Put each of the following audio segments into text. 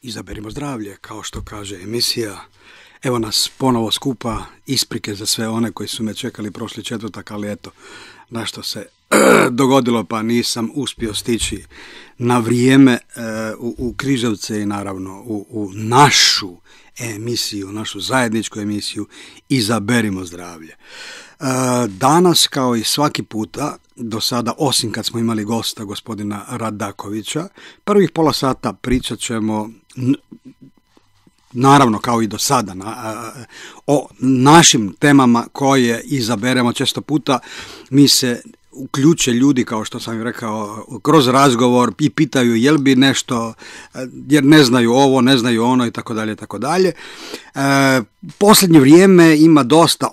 Izaberimo zdravlje, kao što kaže emisija. Evo nas ponovo skupa, isprike za sve one koji su me čekali prošli četvrtak, ali eto, nešto se dogodilo pa nisam uspio stići na vrijeme u Križevce i naravno u našu emisiju, našu zajedničku emisiju Izaberimo zdravlje. Danas, kao i svaki puta, do sada, osim kad smo imali gosta, gospodina Radakovića, prvih pola sata pričat ćemo, naravno kao i do sada, o našim temama koje izaberemo. Često puta mi se uključe ljudi, kao što sam rekao, kroz razgovor i pitaju jel bi nešto, jer ne znaju ovo, ne znaju ono i tako dalje, tako dalje. Posljednje vrijeme ima dosta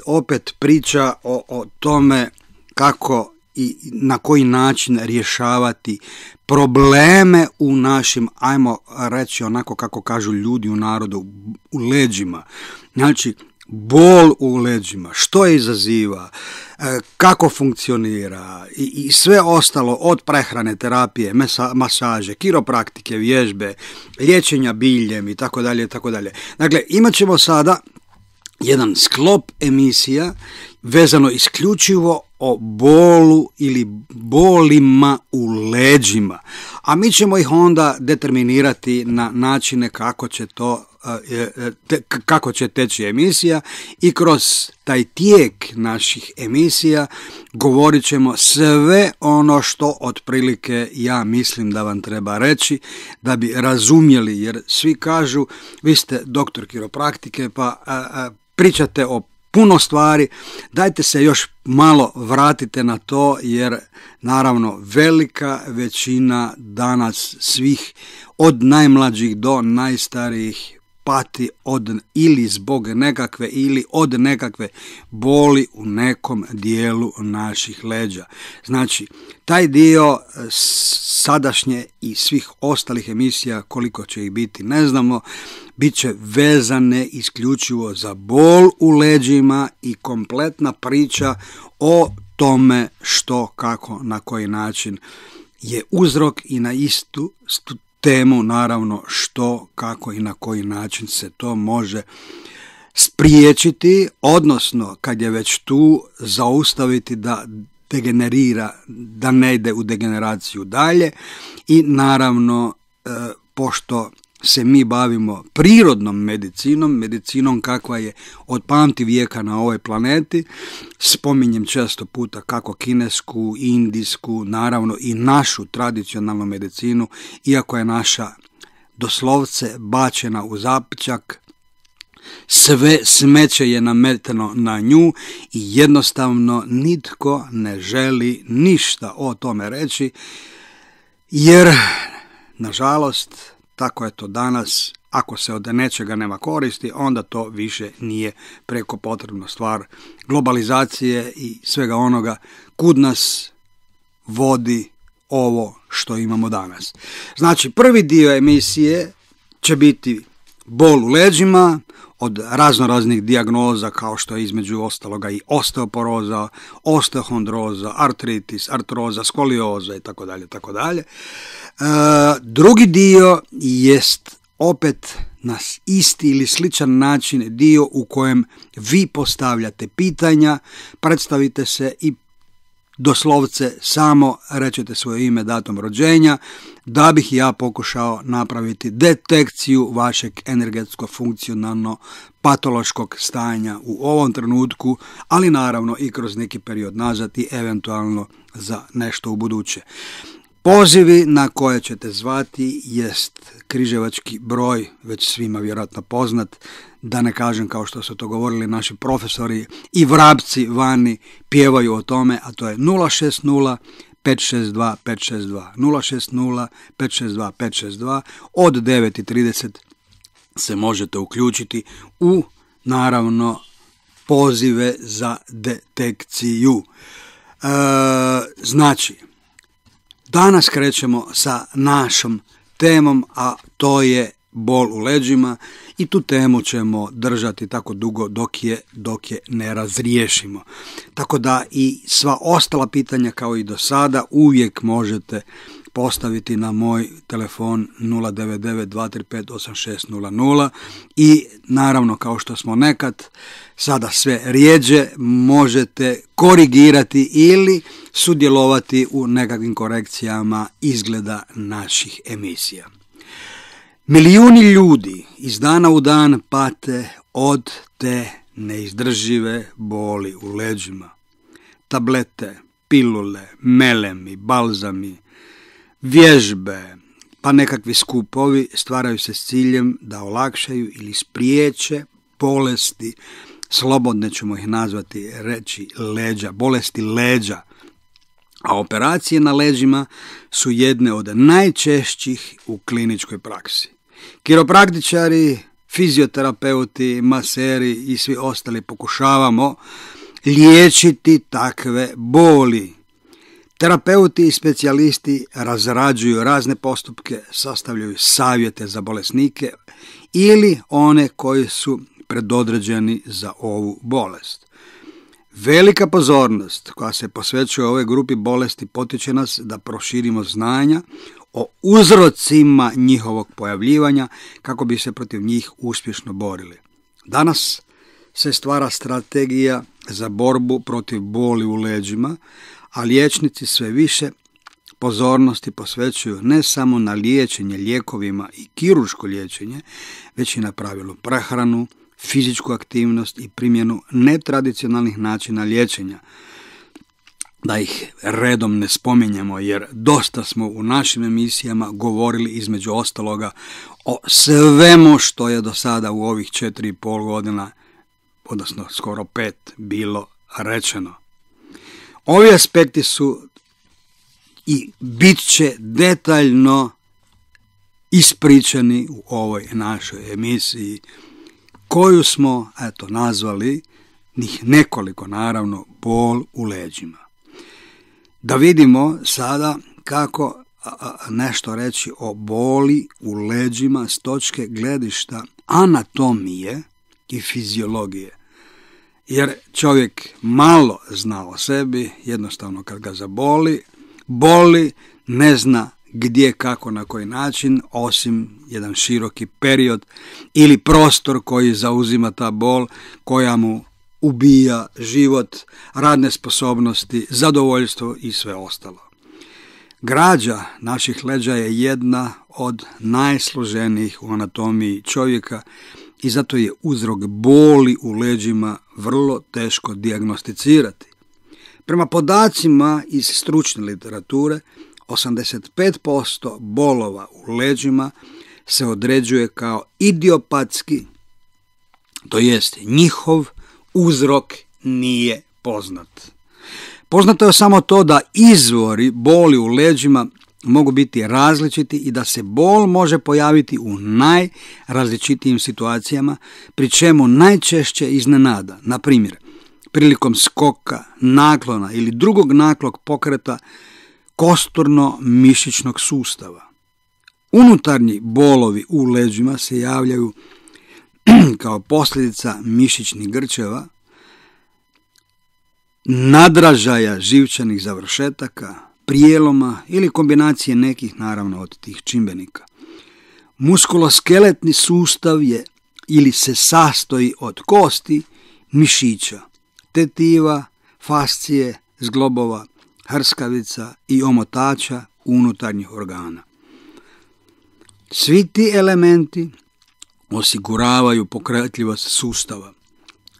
opet priča o tome kako i na koji način rješavati probleme u našim, ajmo reći onako kako kažu ljudi u narodu, u leđima. Znači, bol u leđima, što je izaziva, kako funkcionira i sve ostalo od prehrane, terapije, masaže, kiropraktike, vježbe, liječenja biljem i tako dalje, tako dalje. Dakle, imat ćemo sada jedan sklop emisija vezano isključivo o bolu ili bolima u leđima, a mi ćemo ih onda determinirati na načine kako će teći emisija i kroz taj tijek naših emisija govorit ćemo sve ono što otprilike ja mislim da vam treba reći da bi razumjeli, jer svi kažu vi ste doktor kiropraktike pa pričate o puno stvari, dajte se još malo vratite na to, jer naravno velika većina danas svih od najmlađih do najstarijih pati ili zbog nekakve ili od nekakve boli u nekom dijelu naših leđa. Znači, taj dio sadašnje i svih ostalih emisija, koliko će ih biti ne znamo, bit će vezane isključivo za bol u leđima i kompletna priča o tome što, kako, na koji način je uzrok i na istu temu, naravno, što, kako i na koji način se to može spriječiti, odnosno kad je već tu zaustaviti da degenerira, da ne ide u degeneraciju dalje. I naravno, pošto se mi bavimo prirodnom medicinom kakva je od pamti vijeka na ovoj planeti, spominjem često puta kako kinesku, indijsku, naravno i našu tradicionalnu medicinu, iako je naša doslovce bačena u zapećak, sve smeće je nameteno na nju i jednostavno nitko ne želi ništa o tome reći, jer nažalost tako je to danas. Ako se od nečega nema koristi, onda to više nije preko potrebna stvar globalizacije i svega onoga kud nas vodi ovo što imamo danas. Znači, prvi dio emisije će biti bol u leđima, od raznoraznih dijagnoza kao što je između ostaloga i osteoporoza, osteohondroza, artritis, artroza, skolioza i tako dalje, tako dalje. Drugi dio jest opet na isti ili sličan način dio u kojem vi postavljate pitanja, predstavite se i doslovce samo rečete svoje ime, datum rođenja, da bih ja pokušao napraviti detekciju vašeg energetsko-funkcionalno patološkog stanja u ovom trenutku, ali naravno i kroz neki period nazad i eventualno za nešto u buduće. Pozivi na koje ćete zvati jest križevački broj, već svima vjerojatno poznat, da ne kažem kao što su to govorili naši profesori i vrapci vani pjevaju o tome, a to je 060 562 562, 060 562 562, od 9:30 se možete uključiti u, naravno, pozive za detekciju. Znači, danas krećemo sa našom temom, a to je bol u leđima, i tu temu ćemo držati tako dugo dok je ne razriješimo. Tako da i sva ostala pitanja kao i do sada uvijek možete postaviti na moj telefon 099-235-8600 i naravno, kao što smo nekad, sada sve rijeđe, možete korigirati ili sudjelovati u nekakvim korekcijama izgleda naših emisija. Milijuni ljudi iz dana u dan pate od te neizdržive boli u leđima. Tablete, pilule, melemi, balzami, vježbe, pa nekakvi skupovi stvaraju se s ciljem da olakšaju ili spriječe bolesti, slobodne ćemo ih nazvati, reći leđa, bolesti leđa. A operacije na leđima su jedne od najčešćih u kliničkoj praksi. Kiropraktičari, fizioterapeuti, maseri i svi ostali pokušavamo liječiti takve boli. Terapeuti i specijalisti razrađuju razne postupke, sastavljaju savjete za bolesnike ili one koji su predodređeni za ovu bolest. Velika pozornost koja se posvećuje ovoj grupi bolesti potiče nas da proširimo znanja o uzrocima njihovog pojavljivanja kako bi se protiv njih uspješno borili. Danas se stvara strategija za borbu protiv boli u leđima, a liječnici sve više pozornosti posvećuju ne samo na liječenje lijekovima i kirurško liječenje, već i na pravilu prehranu, fizičku aktivnost i primjenu netradicionalnih načina liječenja. Da ih redom ne spominjemo, jer dosta smo u našim emisijama govorili između ostaloga o svemu što je do sada u ovih 4,5 godina, odnosno skoro 5, bilo rečeno. Ovi aspekti su i bit će detaljno ispričani u ovoj našoj emisiji, koju smo nazvali, njih nekoliko naravno, bol u leđima. Da vidimo sada kako nešto reći o boli u leđima s točke gledišta anatomije i fiziologije. Jer čovjek malo zna o sebi, jednostavno kad ga zaboli, boli, ne zna gdje, kako, na koji način, osim jedan široki period ili prostor koji zauzima ta bol, koja mu ubija život, radne sposobnosti, zadovoljstvo i sve ostalo. Građa naših leđa je jedna od najsloženijih u anatomiji čovjeka i zato je uzrok boli u leđima vrlo teško dijagnosticirati. Prema podacima iz stručne literature, 85% bolova u leđima se određuje kao idiopatski, to jest njihov uzrok nije poznat. Poznato je samo to da izvori boli u leđima mogu biti različiti i da se bol može pojaviti u najrazličitijim situacijama, pri čemu najčešće iznenada, na primjer, prilikom skoka, naklona ili drugog naklog pokreta kosturno-mišićnog sustava. Unutarnji bolovi u leđima se javljaju kao posljedica mišićnih grčeva, nadražaja živčanih završetaka, prijeloma ili kombinacije nekih naravno od tih čimbenika. Muskuloskeletni sustav je ili se sastoji od kosti, mišića, tetiva, fascije, zglobova, hrskavica i omotača unutarnjih organa. Svi ti elementi osiguravaju pokretljivost sustava.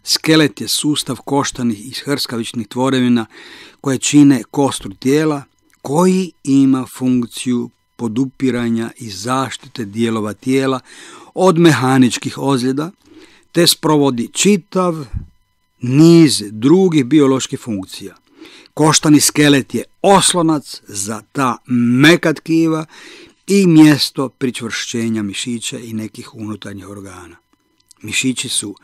Skelet je sustav koštanih i hrskavičnih tvorevina koje čine kostur tijela, koji ima funkciju podupiranja i zaštite dijelova tijela od mehaničkih ozljeda, te sprovodi čitav niz drugih bioloških funkcija. Koštani skelet je oslonac za ta meka tkiva i mjesto pričvršćenja mišića i nekih unutarnjih organa. Mišići su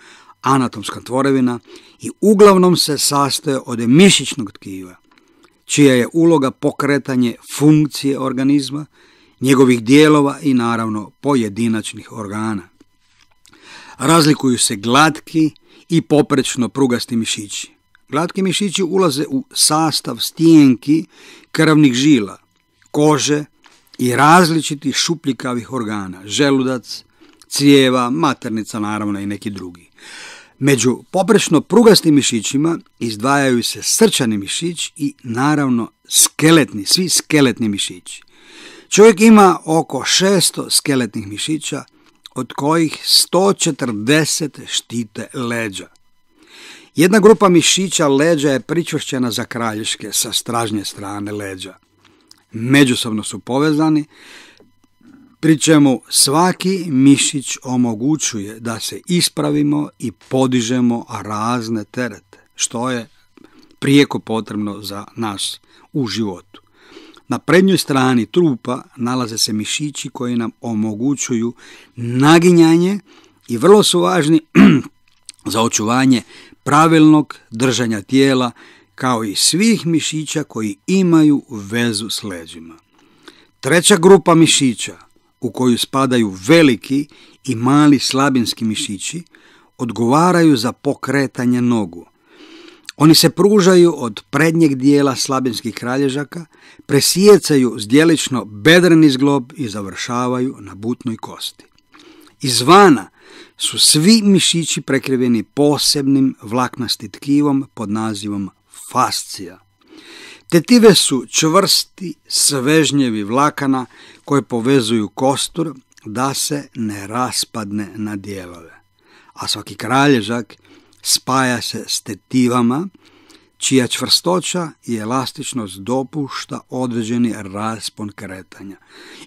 anatomska tvorevina i uglavnom se sastoje od mišićnog tkiva, čija je uloga pokretanje funkcije organizma, njegovih dijelova i naravno pojedinačnih organa. Razlikuju se glatki i poprečno prugasti mišići. Glatki mišići ulaze u sastav stijenki krvnih žila, kože i različitih šupljikavih organa, želudac, crijeva, maternica naravno i neki drugi. Među poprečno prugastim mišićima izdvajaju se srčani mišić i naravno skeletni, svi skeletni mišići. Čovjek ima oko 600 skeletnih mišića, od kojih 140 štite leđa. Jedna grupa mišića leđa je pričvršćena za kralješke sa stražnje strane leđa. Međusobno su povezani, pri čemu svaki mišić omogućuje da se ispravimo i podižemo razne terete, što je prijeko potrebno za nas u životu. Na prednjoj strani trupa nalaze se mišići koji nam omogućuju naginjanje i vrlo su važni za očuvanje pravilnog držanja tijela, kao i svih mišića koji imaju vezu s leđima. Treća grupa mišića, u koju spadaju veliki i mali slabinski mišići, odgovaraju za pokretanje nogu. Oni se pružaju od prednjeg dijela slabinskih kralježaka, presijecaju zdjelično bedreni zglob i završavaju na butnoj kosti. Izvana su svi mišići prekriveni posebnim vlaknastim tkivom pod nazivom fascija. Tetive su čvrsti svežnjevi vlakana koje povezuju kostur da se ne raspadne na dijelove. A svaki kralježak spaja se s tetivama, čija čvrstoća i elastičnost dopušta određeni raspon kretanja.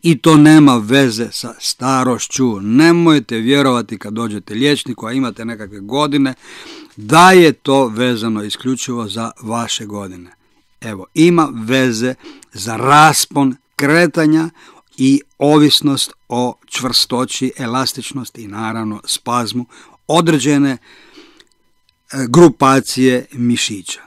I to nema veze sa starošću. Nemojte vjerovati kad dođete liječniku, a imate nekakve godine, da je to vezano isključivo za vaše godine. Evo, ima veze za raspon kretanja i ovisnost o čvrstoći, elastičnosti i naravno spazmu određene grupacije mišića.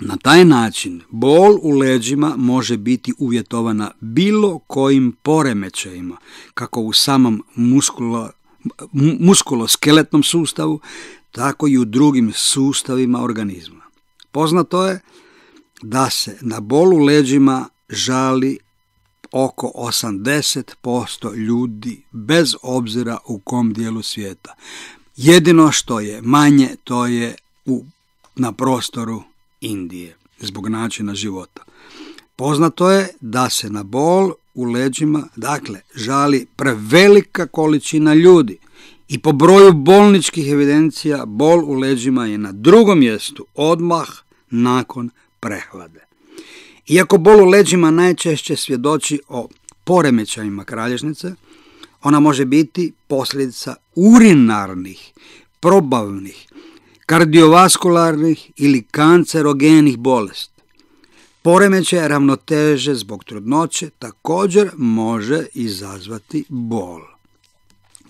Na taj način bol u leđima može biti uvjetovana bilo kojim poremećajima, kako u samom muskuloskeletnom sustavu, tako i u drugim sustavima organizma. Poznato je da se na bol u leđima žali oko 80% ljudi bez obzira u kom dijelu svijeta. Jedino što je manje, to je na prostoru Indije, zbog načina života. Poznato je da se na bol u leđima, žali prevelika količina ljudi i po broju bolničkih evidencija bol u leđima je na drugom mjestu odmah nakon prehlade. Iako bol u leđima najčešće svjedoči o poremećajima kralježnice, ona može biti posljedica urinarnih, probavnih, kardiovaskularnih ili kancerogenih bolesti. Poremećaj ravnoteže zbog trudnoće također može izazvati bol.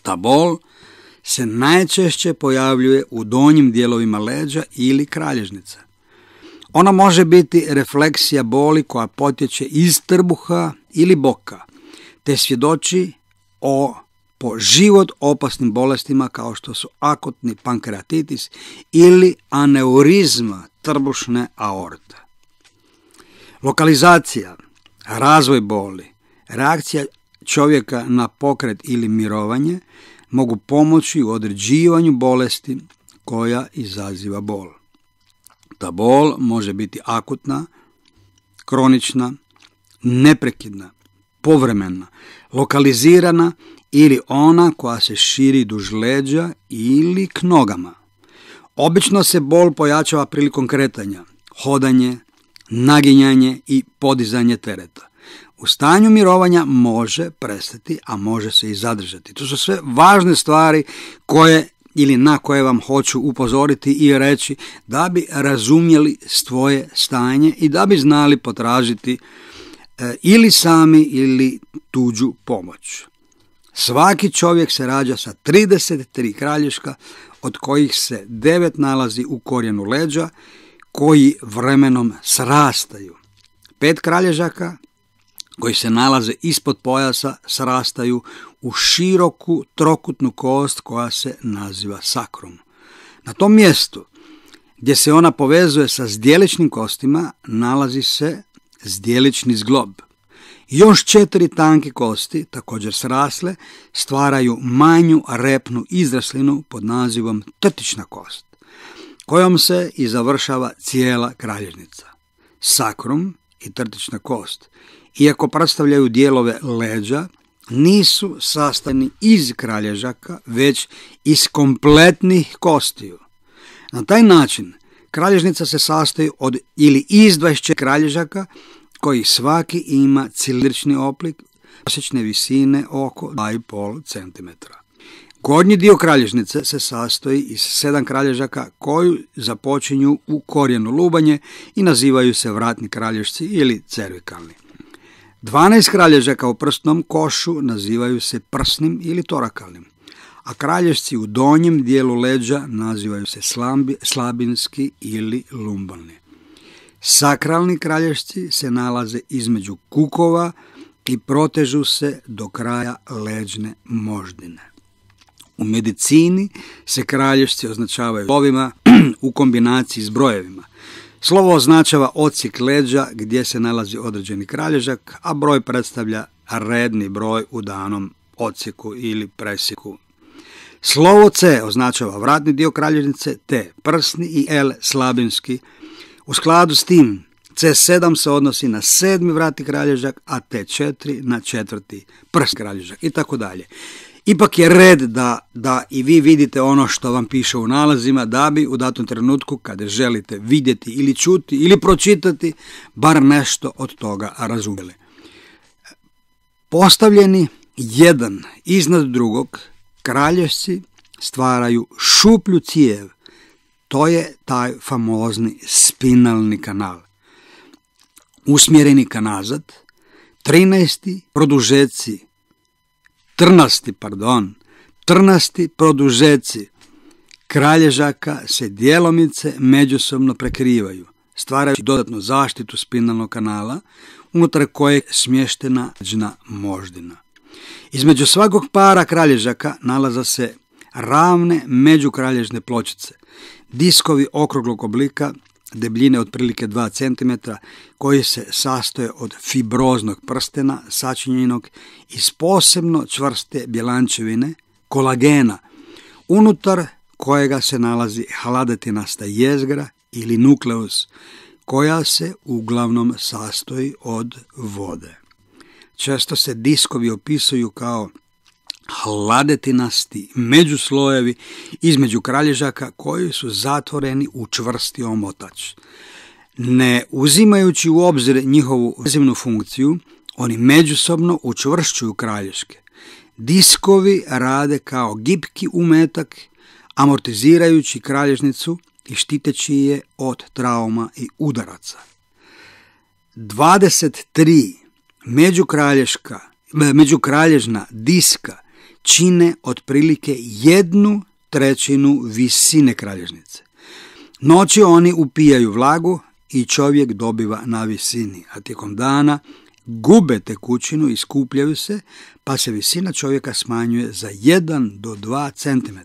Ta bol se najčešće pojavljuje u donjim dijelovima leđa ili kralježnice. Ona može biti refleksija boli koja potječe iz trbuha ili boka, te svjedoči o po život opasnim bolestima kao što su akutni pankreatitis ili aneurizma trbušne aorte. Lokalizacija, razvoj boli, reakcija čovjeka na pokret ili mirovanje mogu pomoći u određivanju bolesti koja izaziva bol. Ta bol može biti akutna, kronična, neprekidna, povremena, lokalizirana ili ona koja se širi duž leđa ili k nogama. Obično se bol pojačava prilikom kretanja, hodanje, naginjanje i podizanje tereta. U stanju mirovanja može prestati, a može se i zadržati. To su sve važne stvari na koje vam hoću upozoriti i reći da bi razumjeli svoje stanje i da bi znali potražiti ili sami ili tuđu pomoć. Svaki čovjek se rađa sa 33 kralješka, od kojih se 9 nalazi u korijenu leđa, koji vremenom srastaju. 5 kralježaka koji se nalaze ispod pojasa srastaju u široku trokutnu kost koja se naziva sakrum. Na tom mjestu gdje se ona povezuje sa zdjeličnim kostima nalazi se zdjelični zglob Još 4 tanke kosti, također srasle, stvaraju manju repnu izraslinu pod nazivom trtična kost, kojom se i završava cijela kralježnica. Sakrum i trtična kost, iako predstavljaju dijelove leđa, nisu sastavljeni iz kralježaka, već iz kompletnih kostiju. Na taj način kralježnica se sastoji od ili iz 24 kralježaka, koji svaki ima cilindrični oblik, prosječne visine oko 2,5 cm. Gornji dio kralježnice se sastoji iz 7 kralježaka koji započinju u korijenu lubanje i nazivaju se vratni kralježci ili cervikalni. 12 kralježaka u prsnom košu nazivaju se prsnim ili torakalnim, a kralježci u donjem dijelu leđa nazivaju se slabinski ili lumbalni. Sakralni kralježci se nalaze između kukova i protežu se do kraja leđne moždine. U medicini se kralježci označavaju slovima u kombinaciji s brojevima. Slovo označava odsjek leđa gdje se nalazi određeni kralježak, a broj predstavlja redni broj u danom odsjeku ili presjeku. Slovo C označava vratni dio kralježnice, T prsni i L slabinski. U skladu s tim, C7 se odnosi na 7. vratni kralježak, a T4 na 4. prsni kralježak i tako dalje. Ipak je red da i vi vidite ono što vam piše u nalazima, da bi u datom trenutku kada želite vidjeti ili čuti ili pročitati bar nešto od toga razumjeli. Postavljeni jedan iznad drugog, kralježci stvaraju šuplju cijev. To je taj famozni spinalni kanal. Usmjereni ka nazad, 13. produžeci kralježaka se djelomice međusobno prekrivaju, stvarajući dodatnu zaštitu spinalnog kanala, unutar kojeg je smještena leđna moždina. Između svakog para kralježaka nalaze se ravne međukralježne pločice, diskovi okruglog oblika, debljine otprilike 2 cm, koji se sastoje od fibroznog prstena sačinjenog iz posebno čvrste bjelančevine, kolagena, unutar kojega se nalazi hladetinasta jezgra ili nukleus, koja se uglavnom sastoji od vode. Često se diskovi opisuju kao hladetinasti međuslojevi između kralježaka koji su zatvoreni u čvrsti omotač. Ne uzimajući u obzir njihovu vezivnu funkciju, oni međusobno učvršćuju kralježke. Diskovi rade kao gibki umetak, amortizirajući kralježnicu i štiteći je od trauma i udaraca. 23 međukralježna diska čine otprilike 1/3 visine kralježnice. Noći oni upijaju vlagu i čovjek dobiva na visini, a tijekom dana gube tekućinu i skupljaju se, pa se visina čovjeka smanjuje za 1 do 2 cm.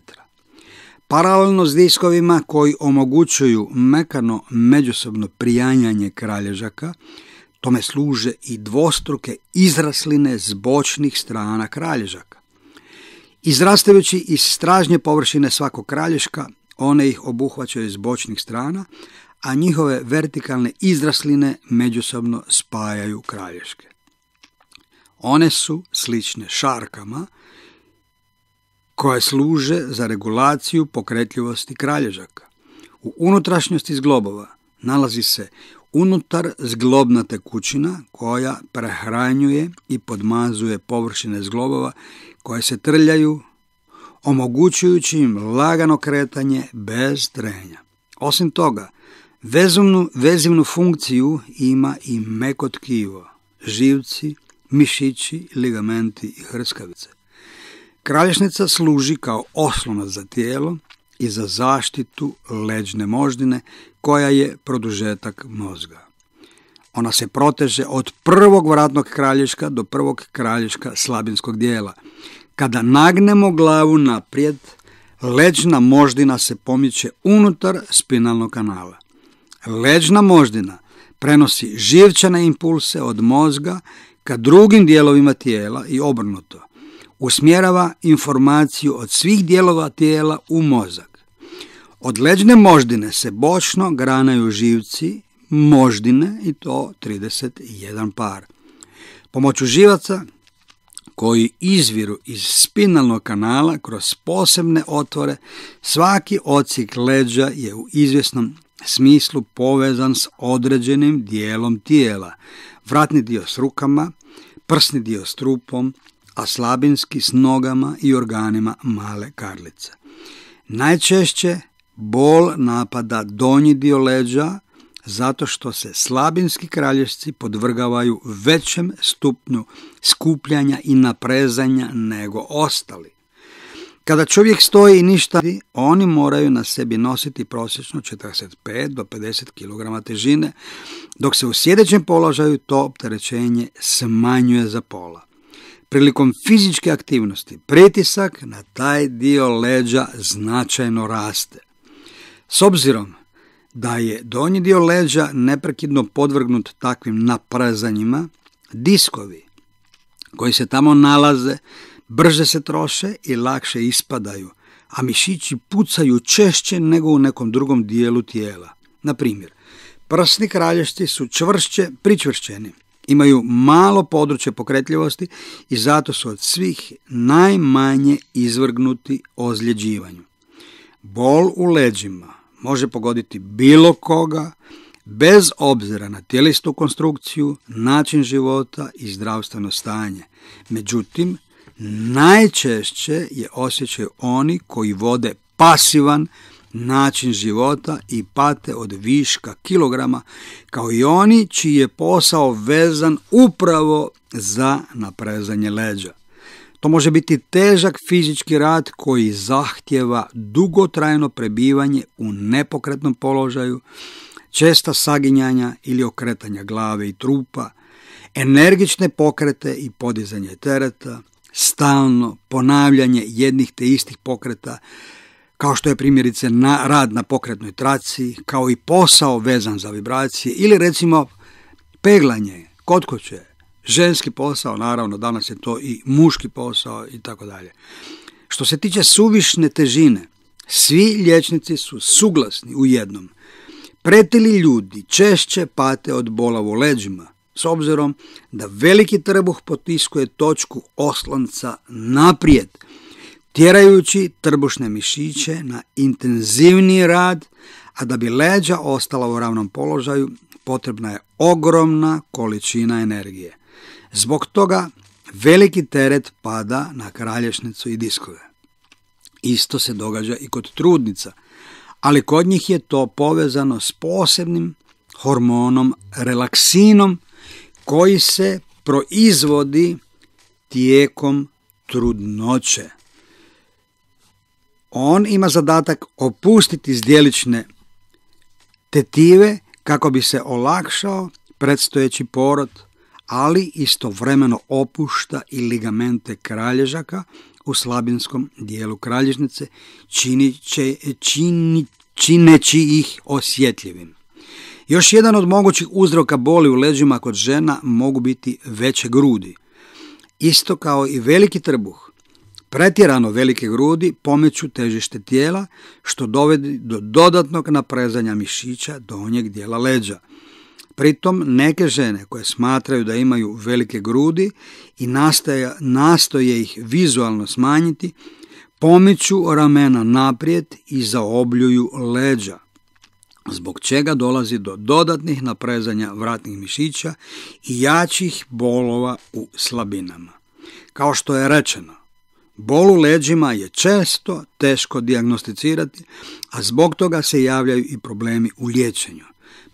Paralelno s diskovima koji omogućuju mekano međusobno prijanjanje kralježaka, tome služe i dvostruke izrasline s bočnih strana kralježaka. Izrastajući iz stražnje površine svakog kralježka, one ih obuhvaćaju s bočnih strana, a njihove vertikalne izrasline međusobno spajaju kralježke. One su slične šarkama koje služe za regulaciju pokretljivosti kralježaka. U unutrašnjosti zglobova nalazi se unutar zglobna tekućina koja prehranjuje i podmazuje površine zglobova koje se trljaju, omogućujući im lagano kretanje bez trenja. Osim toga, vezivnu funkciju ima i meko tkivo, živci, mišići, ligamenti i hrskavice. Kralježnica služi kao oslonac za tijelo i za zaštitu leđne moždine koja je produžetak mozga. Ona se proteže od prvog vratnog kralježka do prvog kralježka slabinskog dijela. Kada nagnemo glavu naprijed, leđna moždina se pomiče unutar spinalnog kanala. Leđna moždina prenosi živčane impulse od mozga ka drugim dijelovima tijela i obrnuto. Usmjerava informaciju od svih dijelova tijela u mozak. Od leđne moždine se bočno granaju živci moždine i to 31 par. Pomoću živaca koji izviru iz spinalnog kanala kroz posebne otvore, svaki odsjek leđa je u izvjesnom smislu povezan s određenim dijelom tijela. Vratni dio s rukama, prsni dio s trupom, a slabinski s nogama i organima male karlice. Najčešće bol napada donji dio leđa zato što se slabinski kralješci podvrgavaju većem stupnju skupljanja i naprezanja nego ostali. Kada čovjek stoji i ništa radi, oni moraju na sebi nositi prosječno 45 do 50 kg težine, dok se u sjedećem položaju to opterećenje smanjuje za pola. Prilikom fizičke aktivnosti pritisak na taj dio leđa značajno raste. S obzirom da je donji dio leđa neprekidno podvrgnut takvim naprezanjima, diskovi koji se tamo nalaze brže se troše i lakše ispadaju, a mišići pucaju češće nego u nekom drugom dijelu tijela. Na primjer, prsni kralješci su čvršće pričvršćeni, imaju malo područje pokretljivosti i zato su od svih najmanje izvrgnuti ozljeđivanju. Bol u leđima može pogoditi bilo koga, bez obzira na tijelistu konstrukciju, način života i zdravstveno stanje. Međutim, najčešće je osjećaju oni koji vode pasivan način života i pate od viška kilograma, kao i oni čiji je posao vezan upravo za naprezanje leđa. To može biti težak fizički rad koji zahtjeva dugotrajno prebivanje u nepokretnom položaju, česta saginjanja ili okretanja glave i trupa, energične pokrete i podizanje tereta, stalno ponavljanje jednih te istih pokreta, kao što je primjerice rad na pokretnoj traci, kao i posao vezan za vibracije ili recimo peglanje kod kuće, ženski posao, naravno danas je to i muški posao i tako dalje. Što se tiče suvišne težine, svi liječnici su suglasni u jednom. Pretili ljudi češće pate od bola u leđima, s obzirom da veliki trbuh potiskuje točku oslonca naprijed, tjerajući trbušne mišiće na intenzivniji rad, a da bi leđa ostala u ravnom položaju, potrebna je ogromna količina energije. Zbog toga veliki teret pada na kralješnicu i diskove. Isto se događa i kod trudnica, ali kod njih je to povezano s posebnim hormonom relaksinom koji se proizvodi tijekom trudnoće. On ima zadatak opustiti zdjelične tetive kako bi se olakšao predstojeći porod, ali istovremeno opušta i ligamente kralježaka u slabinskom dijelu kralježnice, čineći ih osjetljivim. Još jedan od mogućih uzroka boli u leđima kod žena mogu biti veće grudi. Isto kao i veliki trbuh, pretjerano velike grudi pomeću težište tijela, što dovodi do dodatnog naprezanja mišića donjeg dijela leđa. Pritom neke žene koje smatraju da imaju velike grudi i nastoje ih vizualno smanjiti, pomiču ramena naprijed i zaobljuju leđa, zbog čega dolazi do dodatnih naprezanja vratnih mišića i jačih bolova u slabinama. Kao što je rečeno, bol u leđima je često teško dijagnosticirati, a zbog toga se javljaju i problemi u liječenju.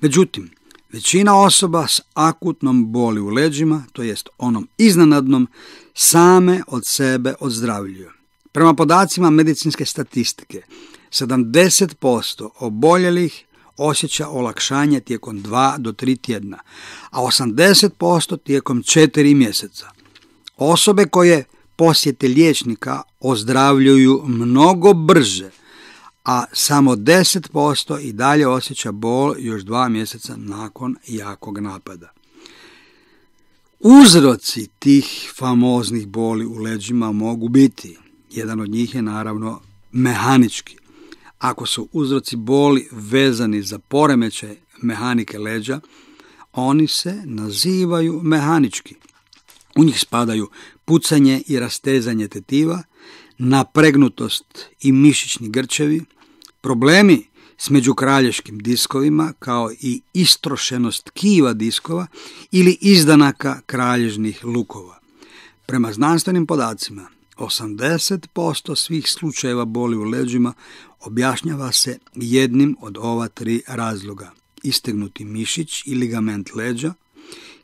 Međutim, većina osoba s akutnom boli u leđima, to jest onom iznenadnom, same od sebe ozdravljuju. Prema podacima medicinske statistike, 70% oboljelih osjeća olakšanje tijekom 2 do 3 tjedna, a 80% tijekom 4 mjeseca. Osobe koje posjete liječnika ozdravljuju mnogo brže, a samo 10% i dalje osjeća bol još 2 mjeseca nakon jakog napada. uzroci tih famoznih boli u leđima mogu biti. Jedan od njih je naravno mehanički. Ako su uzroci boli vezani za poremećaj mehanike leđa, oni se nazivaju mehanički. U njih spadaju pucanje i rastezanje tetiva, napregnutost i mišićni grčevi, problemi s međukralješkim diskovima kao i istrošenost tkiva diskova ili izdanaka kralježnih lukova. Prema znanstvenim podacima, 80% svih slučajeva boli u leđima objašnjava se jednim od ova 3 razloga: istegnuti mišić i ligament leđa,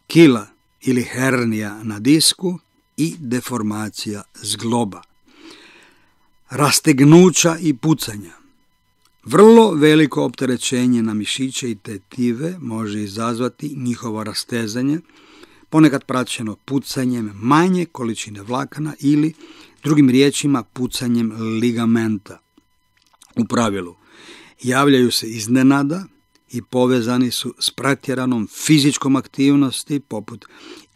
kila ili hernija na disku i deformacija zgloba. Rastegnuća i pucanja. Vrlo veliko opterećenje na mišiće i tetive može izazvati njihovo rastezanje, ponekad praćeno pucanjem manje količine vlakana ili, drugim riječima, pucanjem ligamenta. U pravilu, javljaju se iznenada i povezani su s pretjeranom fizičkom aktivnosti poput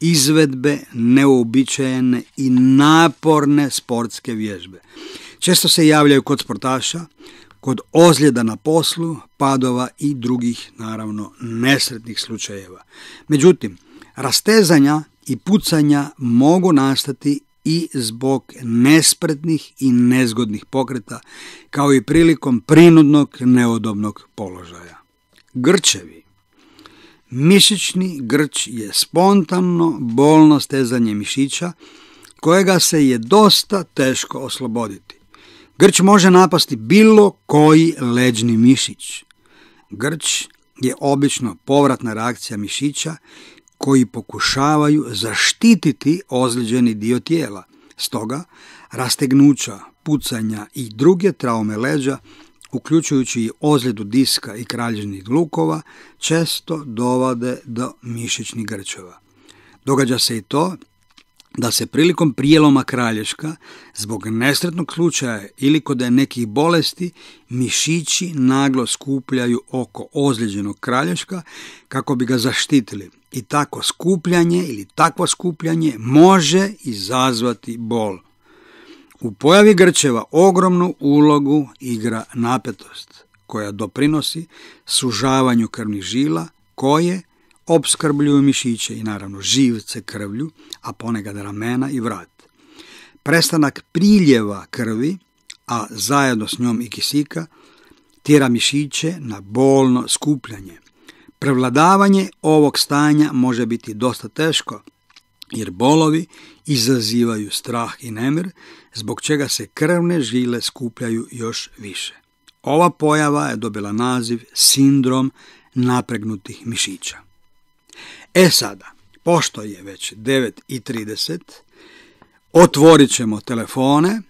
izvedbe neuobičajene i naporne sportske vježbe. Često se javljaju kod sportaša, kod ozljeda na poslu, padova i drugih, naravno, nesretnih slučajeva. Međutim, rastezanja i pucanja mogu nastati i zbog nespretnih i nezgodnih pokreta, kao i prilikom prinudnog neudobnog položaja. Grčevi. Mišićni grč je spontano bolno stezanje mišića kojega se je dosta teško osloboditi. Grč može napasti bilo koji leđni mišić. Grč je obično povratna reakcija mišića koji pokušavaju zaštititi ozlijeđeni dio tijela. Stoga, rastegnuća, pucanja i druge traume leđa, uključujući i ozljedu diska i kralježnih lukova, često dovode do mišićnih grčeva. Događa se i to da se prilikom prijeloma kralješka, zbog nesretnog slučaja ili kod nekih bolesti, mišići naglo skupljaju oko ozlijeđenog kralješka kako bi ga zaštitili. I takvo skupljanje može izazvati bol. U pojavi grčeva ogromnu ulogu igra napetost, koja doprinosi sužavanju krvnih žila koje opskrbljuju mišiće i naravno živce krvlju, a ponekad ramena i vrat. Prestanak priljeva krvi, a zajedno s njom i kisika, tjera mišiće na bolno skupljanje. Prevladavanje ovog stanja može biti dosta teško, jer bolovi izazivaju strah i nemir, zbog čega se krvne žile skupljaju još više. Ova pojava je dobila naziv sindrom napregnutih mišića. Sada, pošto je već 9:30, otvorit ćemo telefone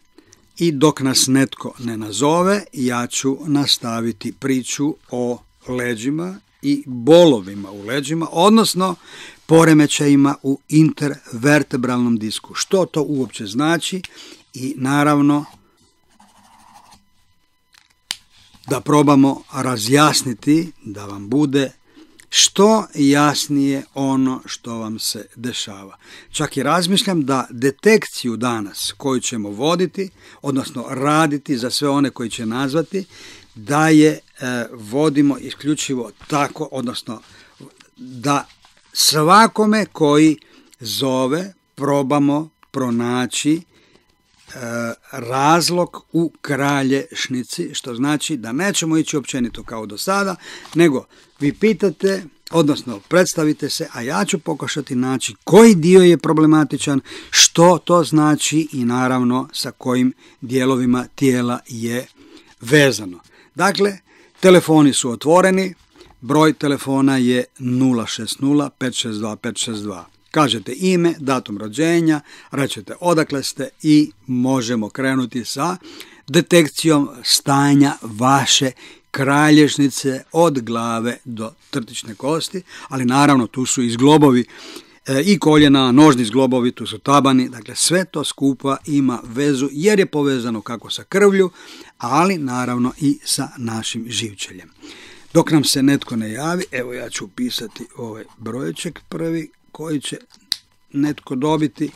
i dok nas netko ne nazove, ja ću nastaviti priču o leđima i bolovima u leđima, odnosno poremećajima u intervertebralnom disku. Što to uopće znači i naravno da probamo razjasniti da vam bude što jasnije ono što vam se dešava. Čak i razmišljam da detekciju danas koju ćemo voditi, odnosno raditi za sve one koji će nazvati, da je vodimo isključivo tako, odnosno da svakome koji zove probamo pronaći razlog u kralješnici, što znači da nećemo ići općenito kao do sada, nego vi pitate, odnosno predstavite se, a ja ću pokušati naći koji dio je problematičan, što to znači i naravno sa kojim dijelovima tijela je vezano. Dakle, telefoni su otvoreni, broj telefona je 060 562 562. Kažete ime, datum rođenja, rečete odakle ste i možemo krenuti sa detekcijom stanja vaše kralješnice od glave do trtične kosti, ali naravno tu su i zglobovi i koljena, nožni zglobovi, tu su tabani, dakle sve to skupa ima vezu jer je povezano kako sa krvlju, ali naravno i sa našim živčeljem. Dok nam se netko ne javi, evo ja ću upisati ovaj brojček prvi koji će netko dobiti.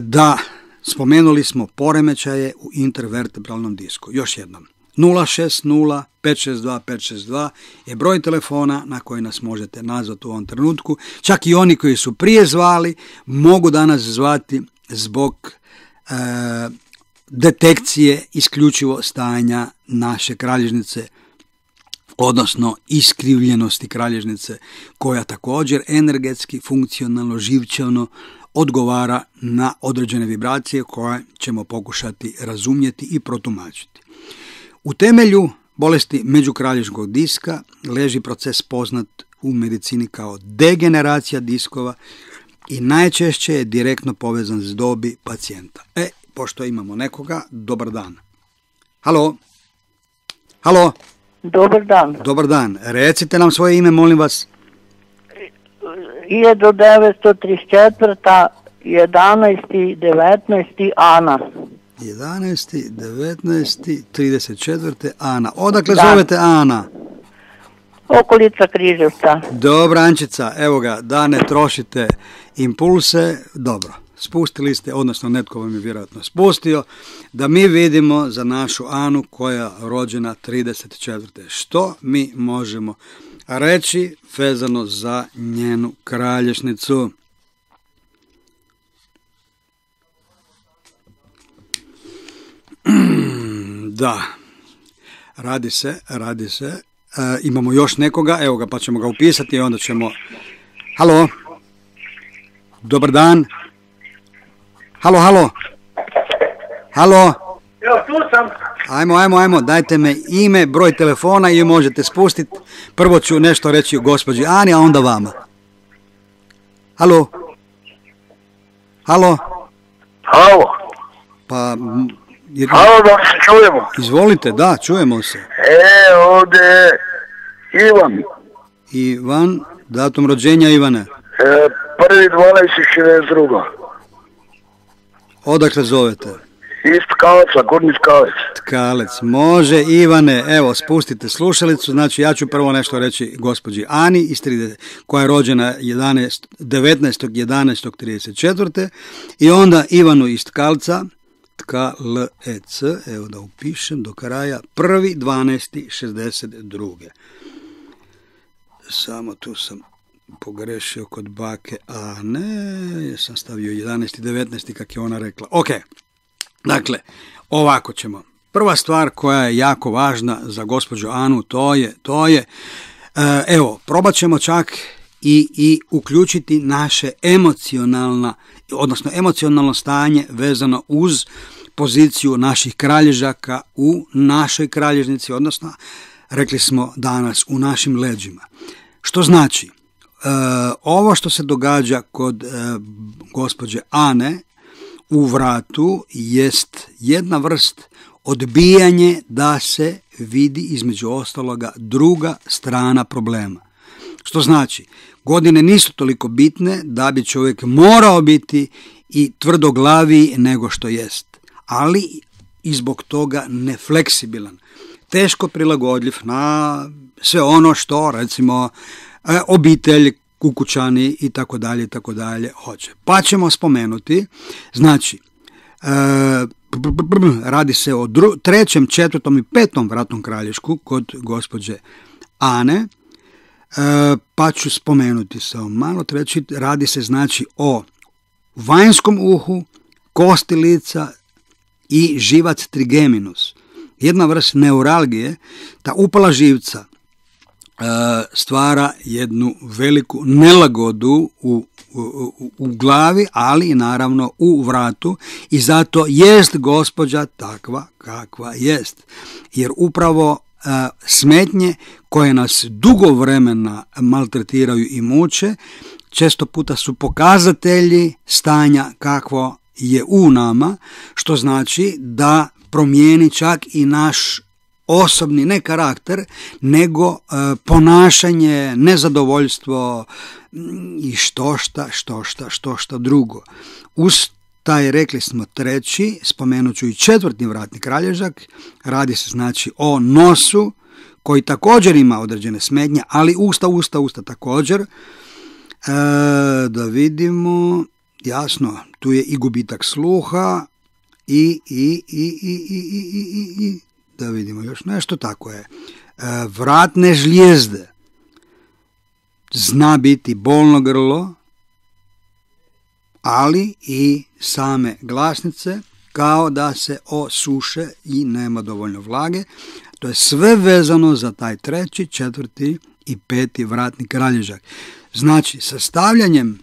Da, spomenuli smo poremećaje u intervertebralnom disku. Još jednom, 060 562 562 je broj telefona na koji nas možete nazvati u ovom trenutku. Čak i oni koji su prije zvali mogu danas zvati zbog detekcije isključivo stanja naše kralježnice, odnosno iskrivljenosti kralježnice, koja također energetski, funkcionalno, živčano odgovara na određene vibracije koje ćemo pokušati razumjeti i protumačiti. U temelju bolesti međukralježničkog diska leži proces poznat u medicini kao degeneracija diskova i najčešće je direktno povezan s dobi pacijenta. Pošto imamo nekoga, dobar dan. Halo? Halo? Dobar dan. Dobar dan. Recite nam svoje ime, molim vas. 1934. 11.19. Ana. 11.19.34. Ana. Odakle zovete Ana? Okolica Križevca. Dobro, Ančica, evo ga, da ne trošite impulse. Dobro, spustili ste, odnosno netko vam je vjerojatno spustio, da mi vidimo za našu Anu koja je rođena 34. Što mi možemo reći vezano za njenu kralježnicu? Da, radi se. Imamo još nekoga, evo ga, pa ćemo ga upisati i onda ćemo... Halo? Dobar dan? Halo? Halo? Ja, tu sam. Ajmo, dajte me ime, broj telefona i možete spustiti. Prvo ću nešto reći gospođi Ani, a onda vama. Halo? Halo. Pa... Halo, da se čujemo. Izvolite, da, čujemo se. Ovdje je Ivan. Ivan, datum rođenja Ivane? 1.12.62. Odakle zovete? Iz Tkaleca, Gornji Tkalec. Tkalec, može. Ivane, evo, spustite slušalicu, znači ja ću prvo nešto reći gospođi Ani, koja je rođena 19.11.34. i onda Ivanu iz Tkalca, Tkalec, evo da upišem do kraja, 1.12.62. Samo tu sam pogrešio kod bake Ane, sam stavio 11.19. kak je ona rekla. Ok, dakle, ovako ćemo. Prva stvar koja je jako važna za gospođu Anu, to je evo, probat ćemo čak i uključiti naše emocionalno stanje vezano uz poziciju naših kralježaka u našoj kralježnici, odnosno, rekli smo danas, u našim leđima. Što znači, ovo što se događa kod gospođe Ane u vratu jest jedna vrst odbijanje da se vidi između ostaloga druga strana problema. Što znači, godine nisu toliko bitne da bi čovjek morao biti i tvrdoglaviji nego što jest, ali i zbog toga nefleksibilan, teško prilagodljiv na sve ono što, recimo, obitelj, kukućani i tako dalje hoće. Pa ćemo spomenuti, znači, radi se o 3., 4. i 5. vratnom kralješku kod gospođe Ane, pa ću spomenuti samo malo treći, radi se znači o vanjskom uhu, kosti lica i živac trigeminus. Jedna vrst neuralgije, ta upala živca stvara jednu veliku nelagodu u glavi, ali i naravno u vratu, i zato jest gospođa takva kakva jest. Jer upravo smetnje koje nas dugo vremena maltretiraju i muče, često puta su pokazatelji stanja kakvo je u nama, što znači da promijeni čak i naš osobni, ne karakter, nego ponašanje, nezadovoljstvo i štošta drugo. Uz taj, rekli smo, 3., spomenut ću i 4. vratni kralježak, radi se znači o nosu, koji također ima određene smetnje, ali usta također. Da vidimo, jasno, tu je i gubitak sluha i da vidimo još nešto, tako je. Vratne žlijezde, zna biti bolno grlo, ali i same glasnice kao da se osuše i nema dovoljno vlage. To je sve vezano za taj 3., 4. i 5. vratni kralježak. Znači, sastavljanjem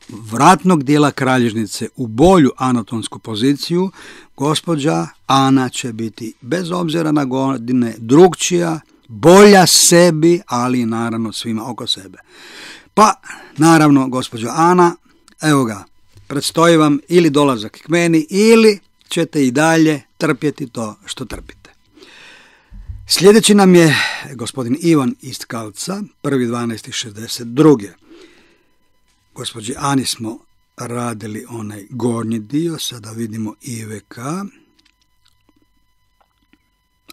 vratnog dijela kralježnice u bolju anatomsku poziciju, gospođa Ana će biti, bez obzira na godine, drugčija, bolja sebi, ali naravno svima oko sebe. Pa, naravno, gospođo Ana, evo ga, predstoji vam ili dolazak k meni, ili ćete i dalje trpjeti to što trpite. Sljedeći nam je gospodin Ivan iz Tkalca, 1.12.62. Gospođi Ani smo radili onaj gornji dio, sada vidimo IVK.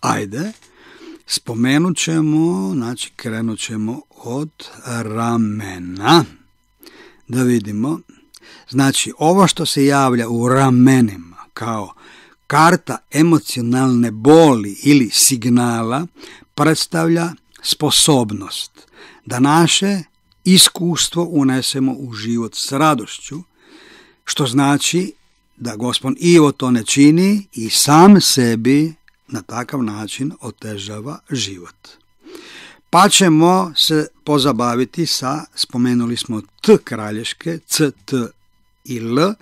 Ajde, spomenut ćemo, znači krenut ćemo od ramena. Da vidimo, znači ovo što se javlja u ramenima kao karta emocionalne boli ili signala predstavlja sposobnost da naše iskustvo unesemo u život s radošću, što znači da gospodin Ivo to ne čini i sam sebi na takav način otežava život. Pa ćemo se pozabaviti sa, spomenuli smo T kralješke, C, T i L,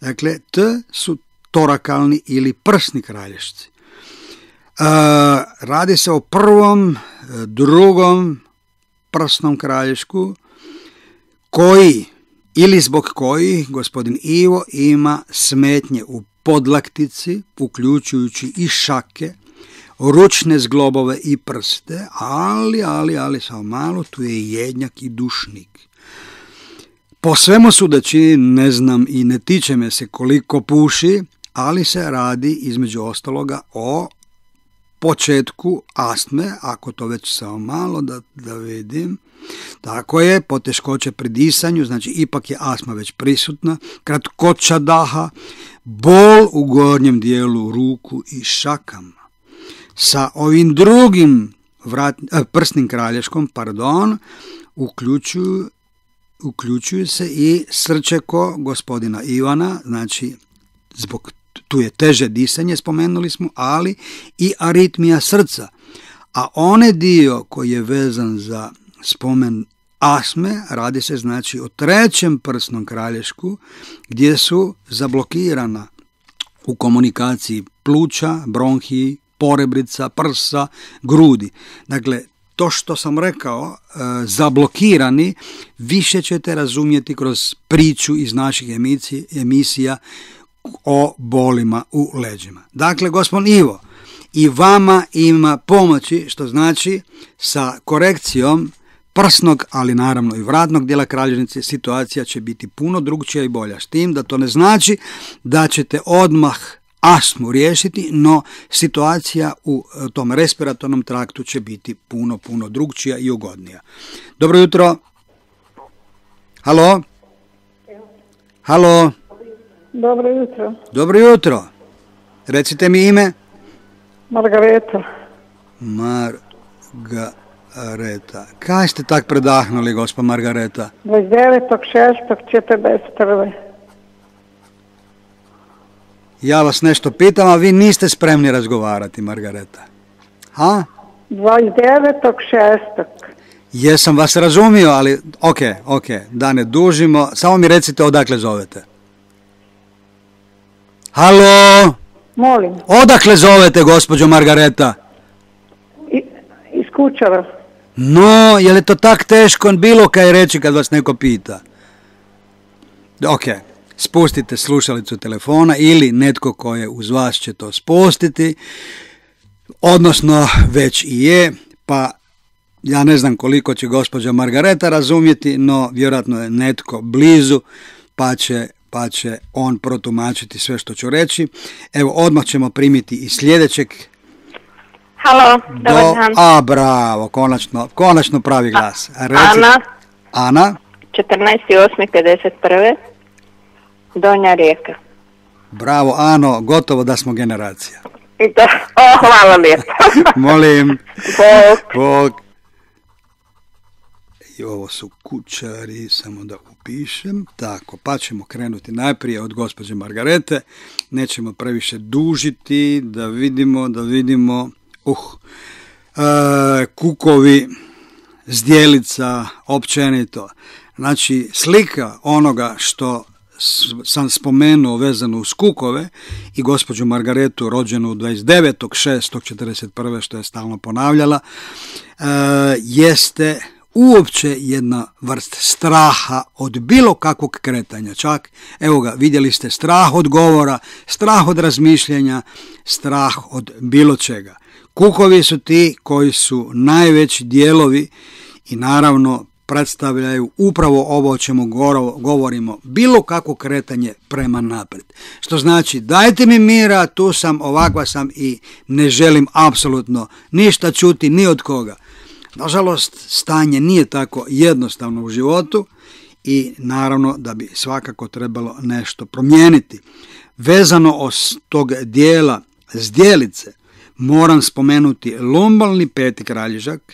dakle T su torakalni ili prsni kralješci. Radi se o 1., 2. prsnom kralješku koji ili zbog kojih gospodin Ivo ima smetnje u podlaktici, uključujući i šake, ručne zglobove i prste, ali samo malo, tu je i jednjak i dušnik. Po svemu sudeći, ne znam i ne tiče me se koliko puši, ali se radi između ostaloga o početku astme, ako to već samo malo da vidim. Tako je, poteškoće pri disanju, znači ipak je astma već prisutna, kratkoća daha, bol u gornjem dijelu ruku i šakama. Sa ovim drugim prsnim kralješkom, uključuju se i srčeko gospodina Ivana, znači zbog tu je teže disanje, spomenuli smo, ali i aritmija srca. A onaj dio koji je vezan za spomen astme, radi se znači o 3. prsnom kralješku, gdje su zablokirana u komunikaciji pluća, bronhiji, porebrica, prsa, grudi. Dakle, to što sam rekao, zablokirani, više ćete razumjeti kroz priču iz naših emisija o bolima u leđima. Dakle, gospodin Ivo, i vama ima pomoći, što znači sa korekcijom prsnog, ali naravno i vratnog dijela kralježnice, situacija će biti puno drugčija i bolja. S tim da to ne znači da ćete odmah astmu riješiti, no situacija u tom respiratornom traktu će biti puno drugčija i ugodnija. Dobro jutro. Halo? Halo? Dobro jutro. Dobro jutro. Recite mi ime. Margareta. Margareta. Kaj ste tak predahnuli, gospa Margareta? 29.6.41. Ja vas nešto pitam, a vi niste spremni razgovarati, Margareta. Ha? 29.6. Jesam vas razumio, ali ok, da ne dužimo. Samo mi recite odakle zovete. Halo? Molim. Odakle zovete, gospođo Margareta? Iz Kučara. No, je li to tak teško bilo kaj reći kad vas neko pita? Ok, spustite slušalicu telefona ili netko ko je uz vas će to spustiti, odnosno već i je, pa ja ne znam koliko će gospođa Margareta razumjeti, no vjerojatno je netko blizu, pa će on protumačiti sve što ću reći. Evo, odmah ćemo primiti i sljedećeg. Halo, dobar dan. Bravo, konačno pravi glas. Ana. Ana? 14.8.51. Donja Rijeka. Bravo, Ano, gotovo da smo generacija. I to, hvala lijepo. Molim. Bog. Bog. I ovo su kućari, samo da upišem. Tako, pa ćemo krenuti najprije od gospođe Margarete. Nećemo previše dužiti, da vidimo. Kukovi, zdjelica, općenito. Znači, slika onoga što sam spomenuo vezano uz kukove i gospođu Margaretu rođenu 29.6.41. što je stalno ponavljala, jeste uopće jedna vrst straha od bilo kakvog kretanja. Čak, evo ga, vidjeli ste, strah od govora, strah od razmišljanja, strah od bilo čega. Kukovi su ti koji su najveći dijelovi i naravno predstavljaju upravo ovo o čemu govorimo, bilo kakvo kretanje prema naprijed. Što znači, dajte mi mira, tu sam, ovakva sam i ne želim apsolutno ništa čuti ni od koga. Nažalost, stanje nije tako jednostavno u životu i naravno da bi svakako trebalo nešto promijeniti. Vezano od tog dijela zdjelice, moram spomenuti lumbalni peti kralježak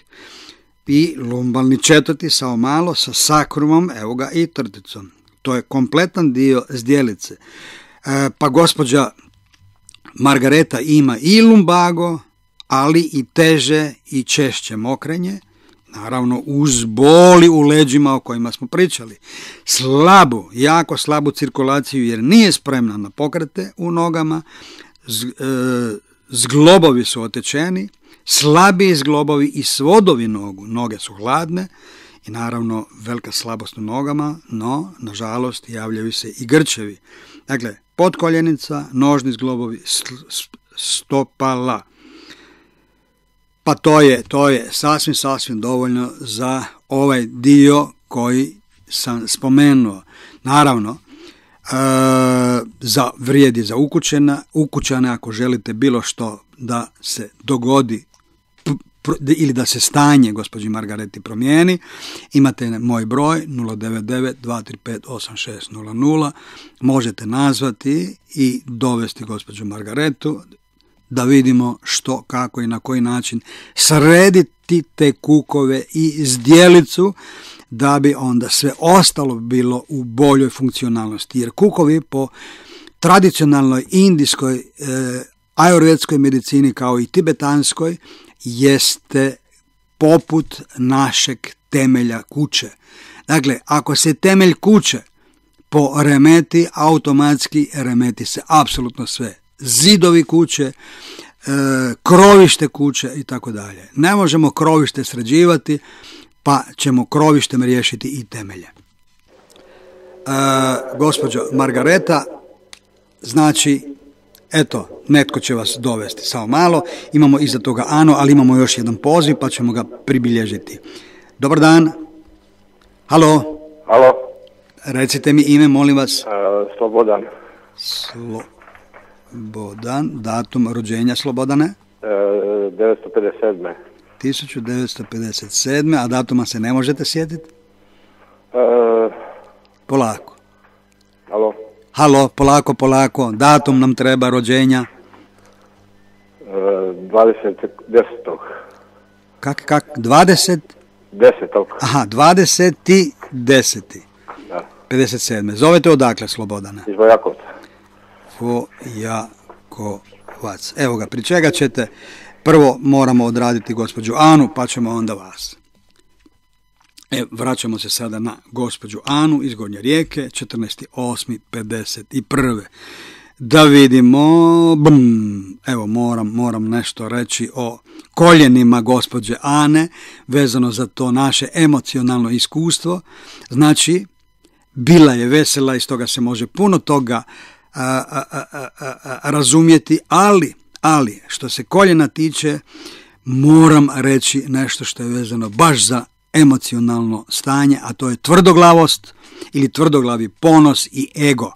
i lumbalni četvrti sao malo sa sakrumom, evo ga, i trticom. To je kompletan dio zdjelice. Pa gospođa Margareta ima i lumbago, ali i teže i češće mokrenje, naravno uz boli u leđima o kojima smo pričali. Jako slabu cirkulaciju jer nije spremna na pokrete u nogama, zglobovi su otečeni, slabiji zglobovi i svodovi noge su hladne i naravno velika slabost u nogama, no nažalost javljaju se i grčevi. Dakle, potkoljenica, nožni zglobovi, stopala. Pa to je sasvim dovoljno za ovaj dio koji sam spomenuo. Naravno, vrijedi za ukućane ako želite bilo što da se dogodi ili da se stanje gospođi Margareti promijeni, imate moj broj 099-235-8600, možete nazvati i dovesti gospođu Margaretu da vidimo što, kako i na koji način srediti te kukove i zdjelicu da bi onda sve ostalo bilo u boljoj funkcionalnosti. Jer kukovi po tradicionalnoj indijskoj ajurvedskoj medicini kao i tibetanskoj jeste poput našeg temelja kuće. Dakle, ako se temelj kuće poremeti, automatski remeti se apsolutno sve. Zidovi kuće, krovište kuće i tako dalje. Ne možemo krovište sređivati, pa ćemo krovištem riješiti i temelje. Gospođo Margareta, znači, eto, netko će vas dovesti. Samo malo, imamo iza toga Ano, ali imamo još jedan poziv, pa ćemo ga pribilježiti. Dobar dan. Halo. Halo. Recite mi ime, molim vas. Slobodan. Slobodan, datum rođenja Slobodane? 1957. 1957. A datuma se ne možete sjetiti? Polako. Halo, polako. Datum nam treba rođenja. 20.10. Kak? 20? 10. Aha, 20.10. Da. 57. Zovete odakle, Slobodane? Iz Vojakovca. Vojakovac. Evo ga, pri čega ćete? Prvo moramo odraditi gospođu Anu, pa ćemo onda vas. Vraćamo se sada na gospođu Anu iz Gornje Rijeke, 14.8.51. Da vidimo, evo moram nešto reći o koljenima gospođe Ane, vezano za to naše emocionalno iskustvo. Znači, bila je vesela i stoga se može puno toga razumjeti, ali što se koljena tiče, moram reći nešto što je vezano baš za emocionalno stanje, a to je tvrdoglavost ili tvrdoglavi ponos i ego.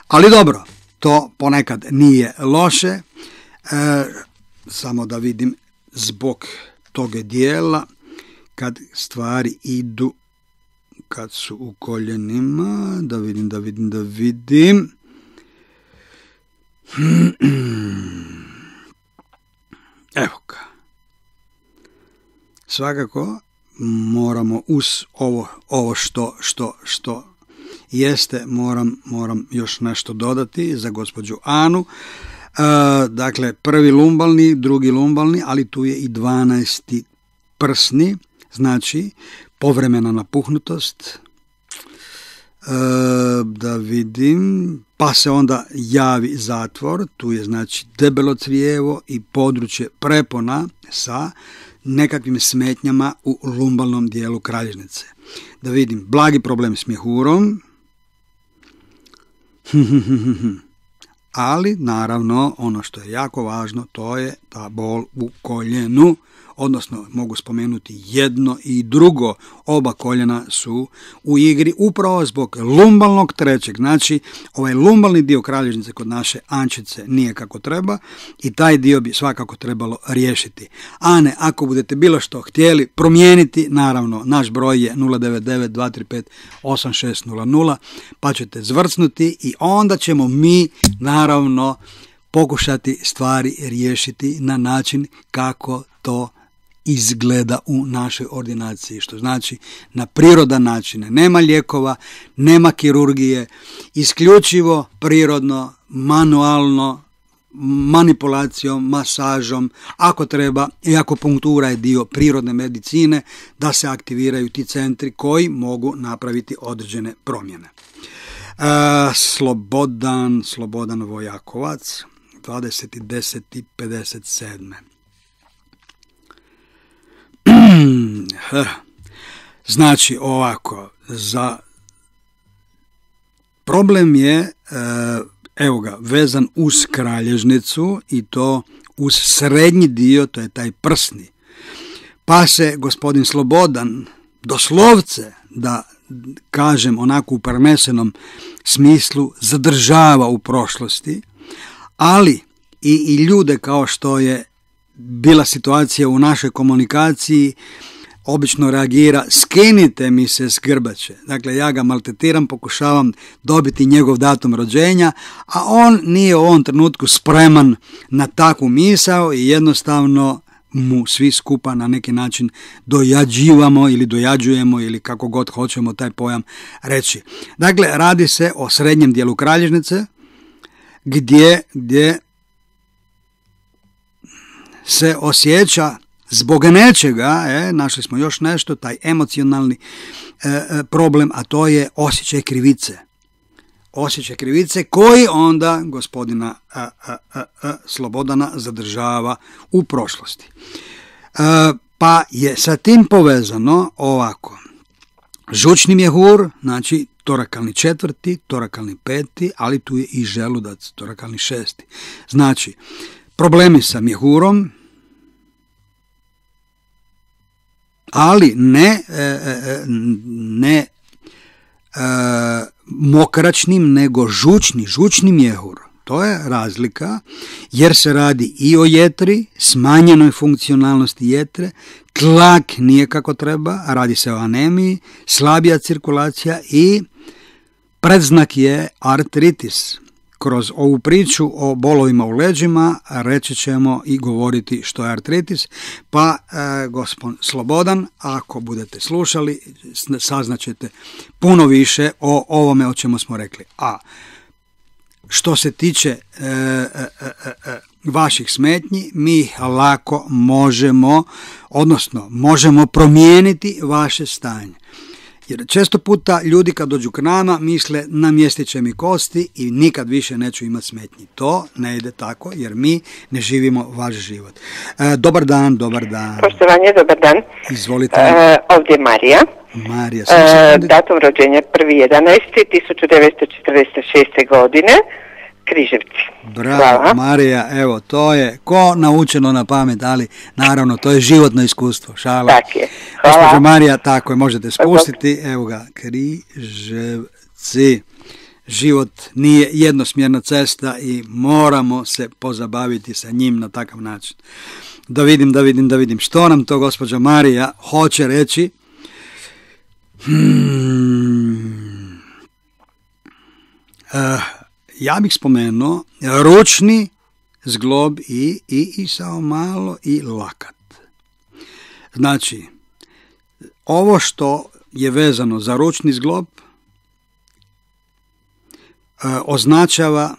Ali dobro, to ponekad nije loše, samo da vidim zbog toga dijela kad stvari idu kad su u koljenima, da vidim. Evo ga. Svakako moramo uz ovo što jeste, moram još nešto dodati za gospođu Anu. Dakle, prvi lumbalni, drugi lumbalni, ali tu je i 12. prsni, znači povremena napuhnutost. Da vidim, pa se onda javi zatvor, tu je znači debelo crijevo i područje prepona sa nekakvim smetnjama u lumbalnom dijelu kralježnice. Da vidim, blagi problem s mjehurom, ali naravno ono što je jako važno, to je ta bol u koljenu, odnosno mogu spomenuti jedno i drugo, oba koljena su u igri upravo zbog lumbalnog trećeg. Znači, ovaj lumbalni dio kralježnice kod naše Ančice nije kako treba i taj dio bi svakako trebalo riješiti. Ane, ako budete bilo što htjeli promijeniti, naravno, naš broj je 099-235-8600, pa ćete zvrcnuti i onda ćemo mi, naravno, pokušati stvari riješiti na način kako to izgleda u našoj ordinaciji, što znači na prirodan način. Nema lijekova, nema kirurgije, isključivo prirodno, manualno, manipulacijom, masažom, ako treba, i akupunktura je dio prirodne medicine, da se aktiviraju ti centri koji mogu napraviti određene promjene. Slobodan Vojakovac, 20.10.57. Znači ovako, za problem je evo ga, vezan uz kralježnicu i to uz srednji dio, to je taj prsni. Pa se gospodin Slobodan doslovce, da kažem onako u prenesenom smislu, zadržava u prošlosti, ali i ljude kao što je bila situacija u našoj komunikaciji, obično reagira, skinite mi se s grbače. Dakle, ja ga maltretiram, pokušavam dobiti njegov datum rođenja, a on nije u ovom trenutku spreman na takvu misao i jednostavno mu svi skupa na neki način dojađivamo ili dojađujemo ili kako god hoćemo taj pojam reći. Dakle, radi se o srednjem dijelu kralježnice gdje se osjeća zbog nečega, našli smo još nešto, taj emocionalni problem, a to je osjećaj krivice. Osjećaj krivice koji onda gospodina Slobodana zadržava u prošlosti. Pa je sa tim povezano ovako. Žučni mjehur, znači torakalni 4., torakalni 5., ali tu je i želudac, torakalni 6. Znači, problemi sa mjehurom, ali ne mokračnim, nego žučni mjehur. To je razlika, jer se radi i o jetri, smanjenoj funkcionalnosti jetre, tlak nije kako treba, radi se o anemiji, slabija cirkulacija i predznak je artritis. Kroz ovu priču o bolovima u leđima reći ćemo i govoriti što je artritis, pa gospodin Slobodan, ako budete slušali, saznaćete puno više o ovome o čemu smo rekli. A što se tiče vaših smetnji, mi ih lako možemo promijeniti vaše stanje. Jer često puta ljudi kad dođu k nama misle namjestit će mi kosti i nikad više neću imati smetnji. To ne ide tako jer mi ne živimo vaš život. Dobar dan. Poštovanje, dobar dan. Izvolite. Ovdje je Marija. Datum rođenja 1.11.1946. godine. Križevci. Bravo, hvala. Marija, evo, to je ko naučeno na pamet, ali naravno, to je životno iskustvo, šala. Tak je, hvala. Gospođo Marija, tako je, možete spustiti, evo ga, Križevci. Život nije jednosmjerna cesta i moramo se pozabaviti sa njim na takav način. Da vidim, što nam to gospođa Marija hoće reći. Ja bih spomenuo ručni zglob i samo malo i lakat. Znači, ovo što je vezano za ručni zglob označava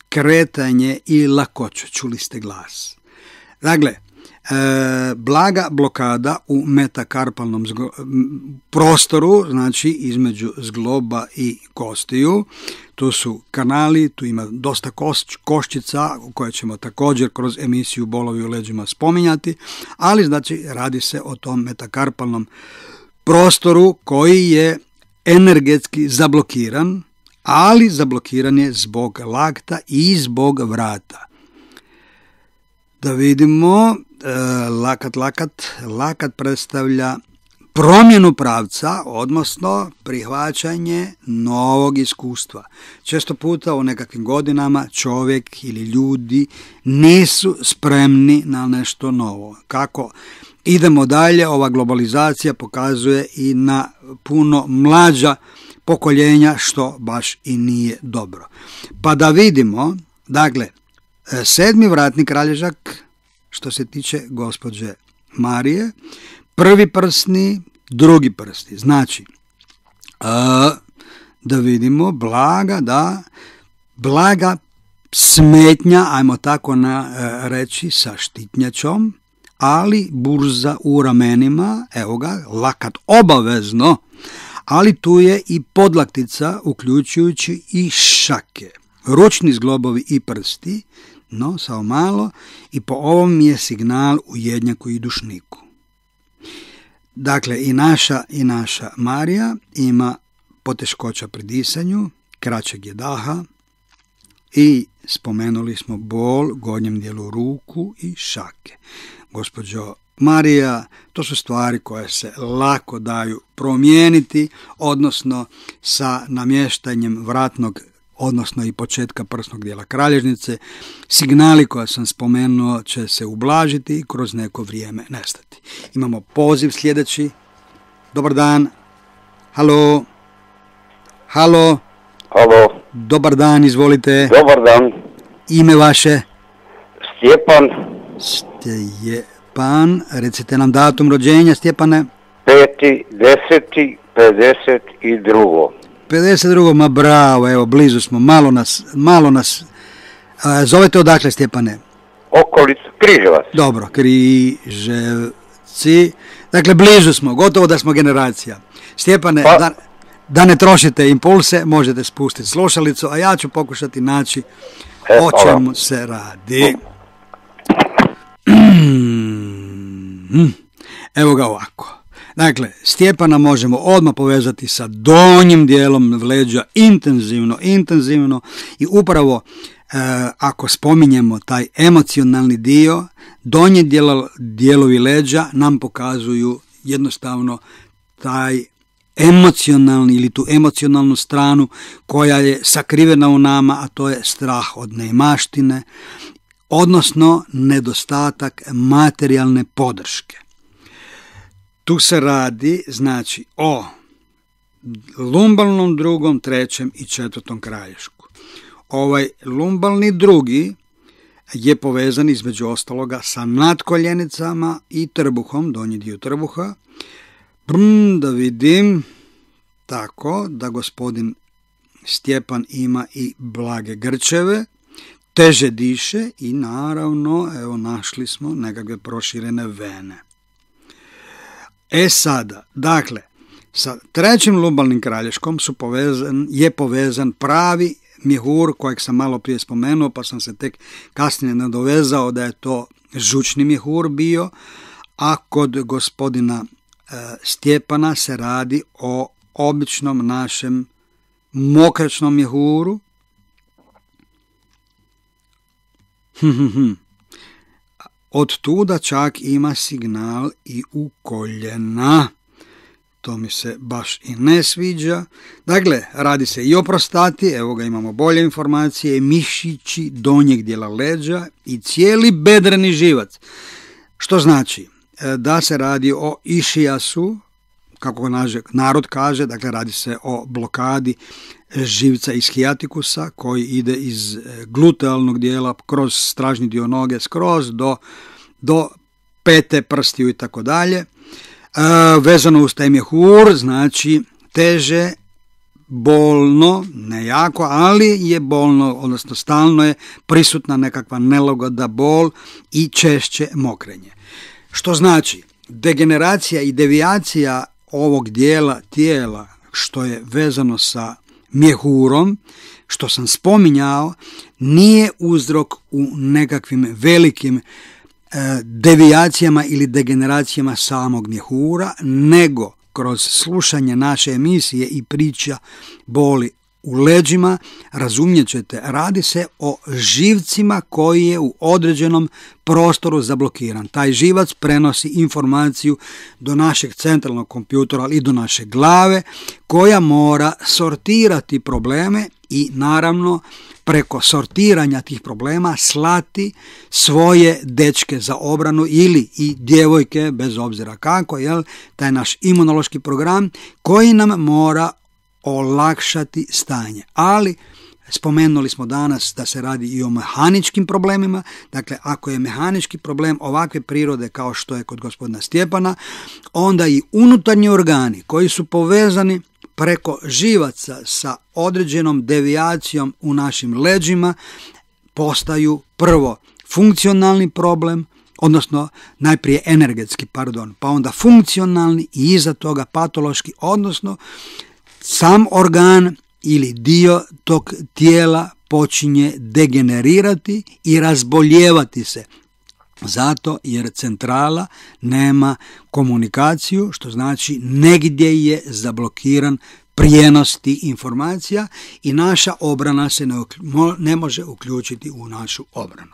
kretanje i lakoću. Čuli ste glas. Dakle, blaga blokada u metakarpalnom prostoru, znači između zgloba i kostiju. Tu su kanali, tu ima dosta koščica koje ćemo također kroz emisiju Bolovi u leđima spominjati, ali znači radi se o tom metakarpalnom prostoru koji je energetski zablokiran, ali zablokiran je zbog lakta i zbog vrata. Da vidimo, lakat predstavlja promjenu pravca, odnosno prihvaćanje novog iskustva. Često puta u nekakvim godinama čovjek ili ljudi nisu spremni na nešto novo. Kako idemo dalje, ova globalizacija pokazuje i na puno mlađa pokoljenja, što baš i nije dobro. Pa da vidimo, dakle, 7. vratni kralježak, što se tiče gospođe Marije, prvi prstni, drugi prstni. Znači, da vidimo, blaga smetnja, ajmo tako reći, sa štitnjačom, ali burza u ramenima, evo ga, lakat obavezno, ali tu je i podlaktica, uključujući i šake. Ručni zglobovi i prsti, no, samo malo, i po ovom je signal u jednjaku i dušniku. Dakle, i naša Marija ima poteškoća pri disanju, kraćeg je daha i spomenuli smo bol u gornjem dijelu ruku i šake. Gospođo Marija, to su stvari koje se lako daju promijeniti, odnosno sa namještanjem vratnog, odnosno i početka prsnog dijela kralježnice. Signali koje sam spomenuo će se ublažiti i kroz neko vrijeme nestati. Imamo poziv sljedeći. Dobar dan. Halo. Halo. Halo. Dobar dan, izvolite. Dobar dan. Ime vaše? Stjepan. Stjepan, recite nam datum rođenja, Stjepane. 5.10.52. 52. Ma bravo, evo, blizu smo, malo nas. Zovete odakle, Stjepane? Okolica Križevac. Dobro, Križevci. Dakle, blizu smo, gotovo da smo generacija. Stjepane, da ne trošite impulse, možete spustiti slušalicu, a ja ću pokušati naći o čemu se radi. Evo ga ovako. Dakle, Stjepana možemo odmah povezati sa donjim dijelom leđa intenzivno i upravo ako spominjemo taj emocionalni dio, donji dijelovi leđa nam pokazuju jednostavno taj emocionalni ili tu emocionalnu stranu koja je sakrivena u nama, a to je strah od neimaštine, odnosno nedostatak materijalne podrške. Tu se radi, znači, o lumbalnom drugom, trećem i četvrtom kralješku. Ovaj lumbalni drugi je povezan između ostaloga sa nadkoljenicama i trbuhom, donji dio trbuha. Da vidim, tako da gospodin Stjepan ima i blage grčeve, teže diše i naravno, evo, našli smo nekakve proširene vene. Sada, dakle, sa trećim lumbalnim kralješkom je povezan pravi mjehur kojeg sam malo prije spomenuo, pa sam se tek kasnije nadovezao da je to žučni mjehur bio, a kod gospodina Stjepana se radi o običnom našem mokračnom mjehuru. Od tuda čak ima signal i u koljena. To mi se baš i ne sviđa. Dakle, radi se i o prostati, evo ga, imamo bolje informacije, mišići donjeg dijela leđa i cijeli bedreni živac. Što znači da se radi o išijasu, kako narod kaže, dakle radi se o blokadi živca ishijatikusa koji ide iz glutealnog dijela kroz stražni dio noge skroz do pete, prstiju i tako dalje. Vezano uz taj mjehur, znači teže, bolno, ne jako, ali je bolno, odnosno stalno je prisutna nekakva nelagoda, bol i češće mokrenje. Što znači, degeneracija i devijacija ovog dijela tijela što je vezano sa mjehurom, što sam spominjao, nije uzrok u nekakvim velikim devijacijama ili degeneracijama samog mjehura, nego kroz slušanje naše emisije i priča boli u leđima, razumjet ćete, radi se o živcima koji je u određenom prostoru zablokiran. Taj živac prenosi informaciju do našeg centralnog kompjutora, ali i do naše glave, koja mora sortirati probleme i naravno preko sortiranja tih problema slati svoje dečke za obranu ili i djevojke, bez obzira kako, taj naš imunološki program koji nam mora olakšati stanje. Ali spomenuli smo danas da se radi i o mehaničkim problemima. Dakle, ako je mehanički problem ovakve prirode kao što je kod gospodina Stjepana, onda i unutarnji organi koji su povezani preko živaca sa određenom devijacijom u našim leđima postaju prvo funkcionalni problem, odnosno najprije energetski, pa onda funkcionalni i iza toga patološki, odnosno sam organ ili dio tog tijela počinje degenerirati i razboljevati se. Zato jer centrala nema komunikaciju, što znači negdje je zablokiran prijenos tih informacija i naša obrana se ne može uključiti u našu obranu.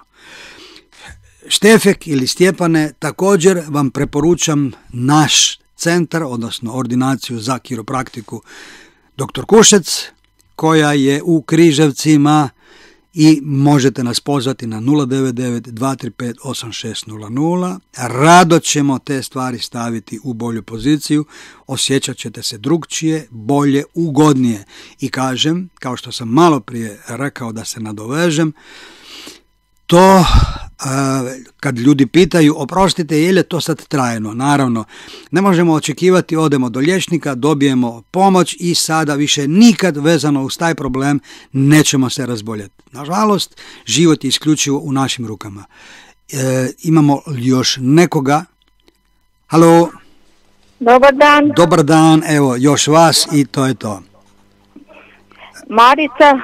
Štefek ili Stjepane, također vam preporučam naš centar, odnosno ordinaciju za kiropraktiku Dr. Kušec, koja je u Križevcima i možete nas pozvati na 099-235-8600. Rado ćemo te stvari staviti u bolju poziciju, osjećat ćete se drugčije, bolje, ugodnije. I kažem, kao što sam malo prije rekao da se nadovežem, to kad ljudi pitaju, oprostite, je li to sad trajno? Naravno, ne možemo očekivati, odemo do liječnika, dobijemo pomoć i sada više nikad vezano uz taj problem nećemo se razboljeti. Nažalost, život je isključivo u našim rukama. Imamo još nekoga? Halo? Dobar dan. Dobar dan, evo, još vas i to je to. Marica,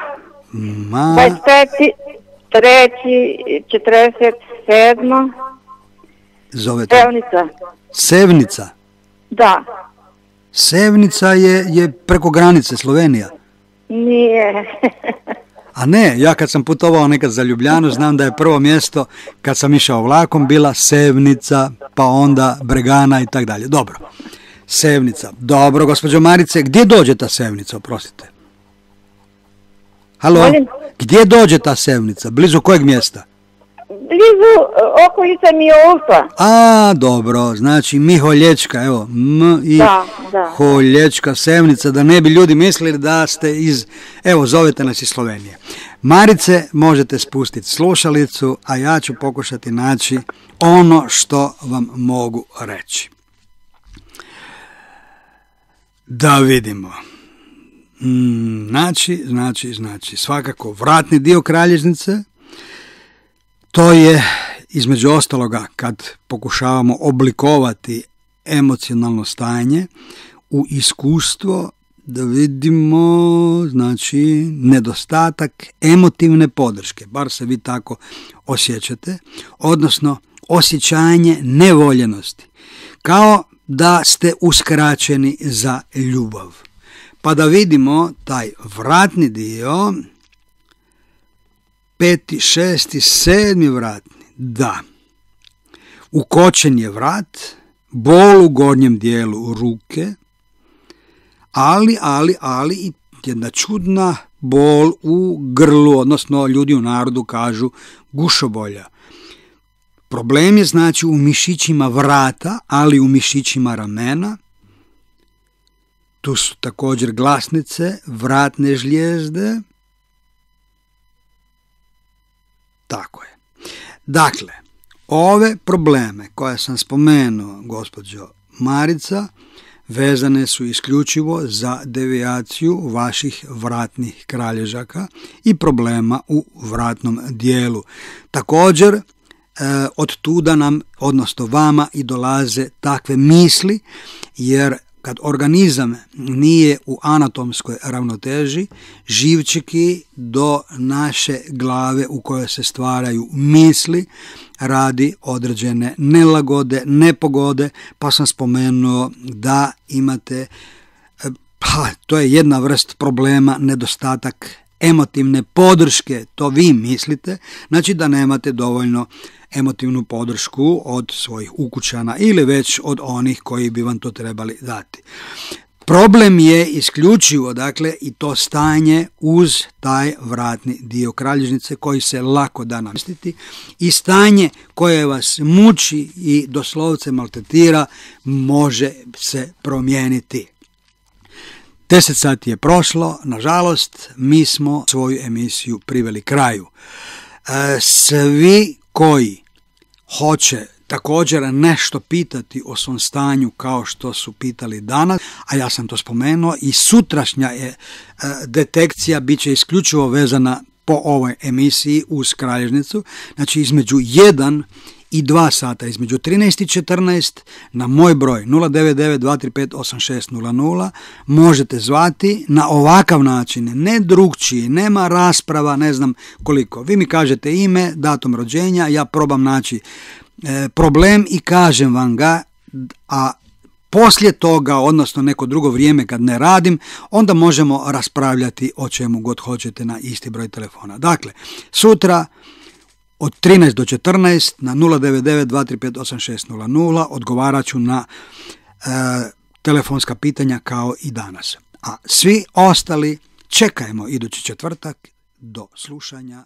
25.3.47. Zovete? Sevnica. Sevnica? Da. Sevnica je preko granice, Slovenija? Nije. A ne, ja kad sam putovao nekad za Ljubljanu, znam da je prvo mjesto kad sam išao vlakom bila Sevnica, pa onda Bregana i tak dalje. Dobro, Sevnica. Dobro, gospođo Marice, gdje dođe ta Sevnica, oprostite? Halo, gdje dođe ta Sevnica? Blizu kojeg mjesta? Blizu okolice Miolca. A, dobro, znači Miholječka, evo, Holječka, Sevnica, da ne bi ljudi mislili da ste evo, zovete nas iz Slovenije. Marice, možete spustiti slušalicu, a ja ću pokušati naći ono što vam mogu reći. Da vidimo. Znači, svakako vratni dio kralježnice, to je između ostaloga kad pokušavamo oblikovati emocionalno stanje u iskustvo, da vidimo, znači, nedostatak emotivne podrške, bar se vi tako osjećate, odnosno osjećanje nevoljenosti, kao da ste uskraćeni za ljubav. Pa da vidimo taj vratni dio, 5., 6., 7. vratni, da. Ukočen je vrat, bol u gornjem dijelu ruke, ali i jedna čudna bol u grlu, odnosno ljudi u narodu kažu gušobolja. Problem je znači u mišićima vrata, ali u mišićima ramena, Tu su također glasnice, vratne žlijezde. Tako je. Dakle, ove probleme koje sam spomenuo, gospođo Marica, vezane su isključivo za devijaciju vaših vratnih kralježaka i problema u vratnom dijelu. Također, od tuda nam, odnosno vama, i dolaze takve misli, jer kad organizam nije u anatomskoj ravnoteži, živčeki do naše glave u kojoj se stvaraju misli radi određene nelagode, nepogode, pa sam spomenuo da imate, to je jedna vrst problema, nedostatak emotivne podrške, to vi mislite, znači da nemate dovoljno emotivnu podršku od svojih ukućana ili već od onih koji bi vam to trebali dati. Problem je isključivo, dakle, i to stanje uz taj vratni dio kralježnice koji se lako da namjestiti i stanje koje vas muči i doslovce maltretira može se promijeniti. 10 sati je prošlo, nažalost, mi smo svoju emisiju priveli kraju. Svi koji hoće također nešto pitati o svom stanju kao što su pitali danas, a ja sam to spomenuo, i sutrašnja je detekcija bit će isključivo vezana po ovoj emisiji uz kralježnicu, znači između 1 i 2 sata, između 13 i 14 na moj broj 099-235-8600 možete zvati na ovakav način, ne drugčiji, nema rasprava, ne znam koliko. Vi mi kažete ime, datum rođenja, ja probam naći problem i kažem vam ga, a poslije toga, odnosno neko drugo vrijeme kad ne radim, onda možemo raspravljati o čemu god hoćete na isti broj telefona. Dakle, sutra od 13 do 14 na 099-235-8600 odgovarat ću na telefonska pitanja kao i danas. A svi ostali čekajmo idući četvrtak. Do slušanja.